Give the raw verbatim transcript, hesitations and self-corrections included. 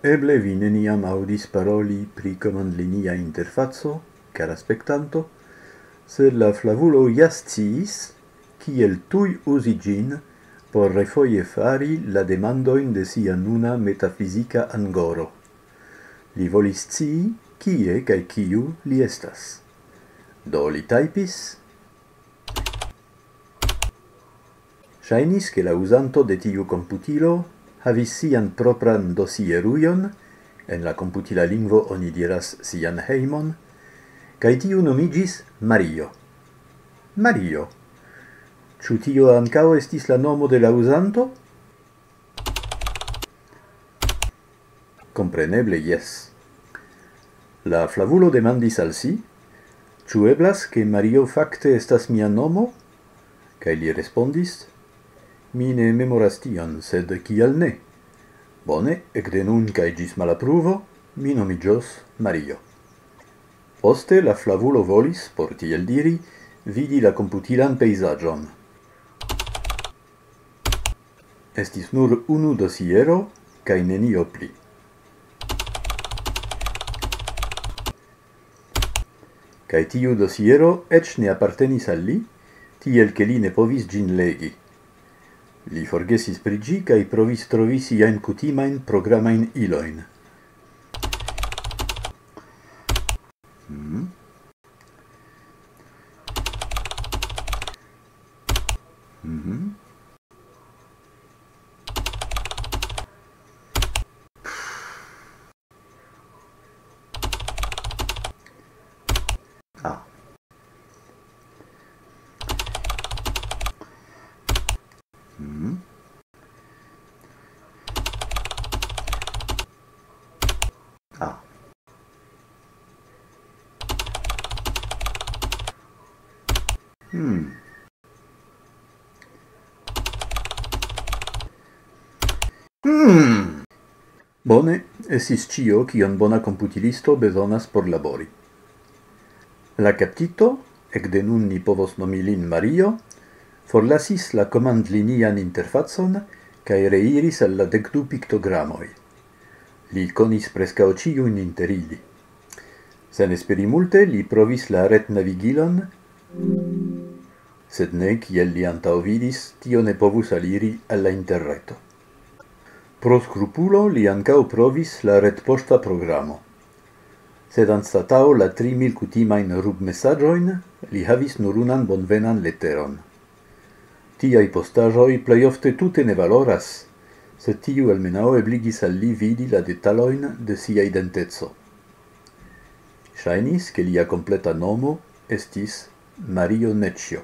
Eble vi neniam aŭdis paroli pri komandlinia interfaco, kara spektanto, sed la flavulo ja sciis, kiel tuj uzi ĝin por refoje fari la demandojn de sia nuna metafizika angoro. Li volis scii, kie kaj kiu li estas. Do li tajpis: Ŝajnis, ke la uzanto de tiu komputilo havis sian propran dosierujon, en la komputila lingvo oni diras sian hejmon, kaj tiu nomiĝis Mario. Mario. Ĉu tio ankaŭ estis la nomo de la uzanto? Kompreneble jes. La flavulo demandis al si: "Ĉu eblas, ke Mario fakte estas mia nomo?" Kaj li respondis: "Mi ne memoras tion, sed kial ne? Bone, ekde nun kaj ĝis malapruvo, mi nomiĝos Mario." Poste la flavulo volis, por tiel diri, vidi la komputilan pejzaĝon. Estis nur unu dosiero kaj nenio pli. Kaj tiu dosiero eĉ ne apartenis al li, tiel ke li ne povis ĝin legi. Li forgesis pri ĝi kaj provis trovi siajn kutimajn programajn ilojn. Mhm. Mhm. Ah. Mhm. Ah. Hmm. Hmm. Bone, estis ĉio, kion bona komputilisto bezonas por labori. La kaptito, ekde nun ni povos nomi lin Mario, forlasis la komandlinian interfacon kaj reiris al la dek du piktogramoj. Li konis preskaŭ ĉiujn inter ili. Sen esperi multe, li provis la retnavigilon, sed ne, kiel li antaŭvidis, tio ne povus aliri al la interreto. Pro skrupulo li ankaŭ provis la retpoŝta programo. Sed anstataŭ la tri mil kutimajn rubmesaĝojn, li havis nur unan bonvenan leteron. Tiaj postaĵoj plej ofte tute ne valoras, sed tiu almenaŭ ebligis al li vidi la detalojn de sia identeco. Ŝajnis, ke lia kompleta nomo estis Mario Necio.